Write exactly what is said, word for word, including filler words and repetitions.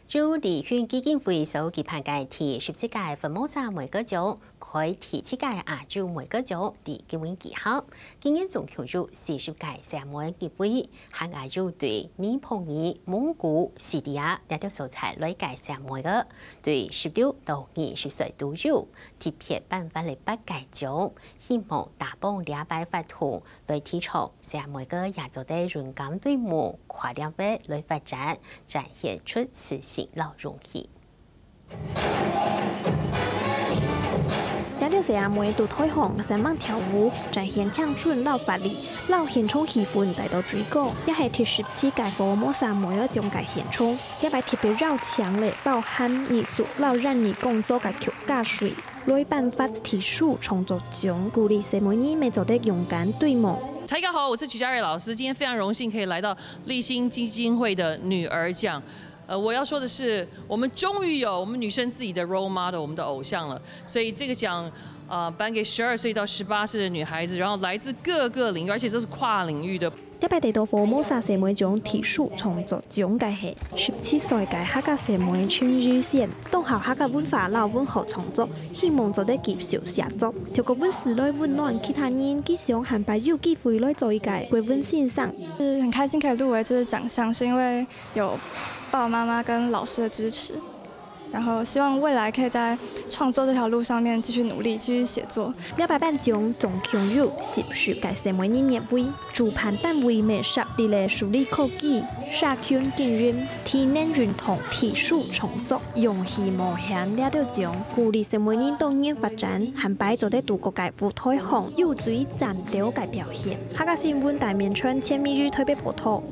就禮訓基金會所舉辦个第十七屆福摩沙妹个獎，開第七屆亞洲妹个獎，在今晡日舉行。今年總共有四十屆細妹入圍，還有對尼泊爾、蒙古、敘利亞這兜所在來个細妹个，對十六到二十歲都有，特別頒發了八屆獎，希望打幫這擺活動，來提倡細妹个也做得勇敢對夢，跨領域來發展，展現出自信摎勇氣。這兜細阿妹佇臺項生猛跳舞，展現青春摎活力，摎現場氣氛帶到最高。這係第十七屆福摩沙妹个獎个現場，這擺特別邀請了包含藝術摎印尼工作个曲家水，來頒發特殊創作獎，鼓勵細妹人乜做得勇敢對夢。大家好，我是曲家瑞老師，今天非常榮幸可以來到勵馨基金會的女兒獎。呃，我要說的是，我們終於有我們女生自己的 role model，我們的偶像了。所以這個獎，呃，頒給十二歲到十八歲的女孩子，然後來自各個領域，而且都是跨領域的。這擺得到福摩沙細妹獎特殊創作獎个係十七歲个客家細妹陳雨仙，當好客家文化摎文學創作，希望做得繼續寫作，透過文字來溫暖其他人，佢想下擺有機會來做一個國文先生。是很開心可以入圍這次獎項，是因為有爸爸媽媽跟老師的支持，然後希望未來可以在創作這條路上面繼續努力，繼續寫作。這擺頒獎總共有十十個細妹人入圍，主辦單位乜設立了數理科技、社群經營、體能運動、特殊創作、勇氣冒險這兜獎，鼓勵細妹人多元發展，下擺做得佇各個舞臺項有最嶄新个表現。客家新聞戴明川、錢美玉台北報導。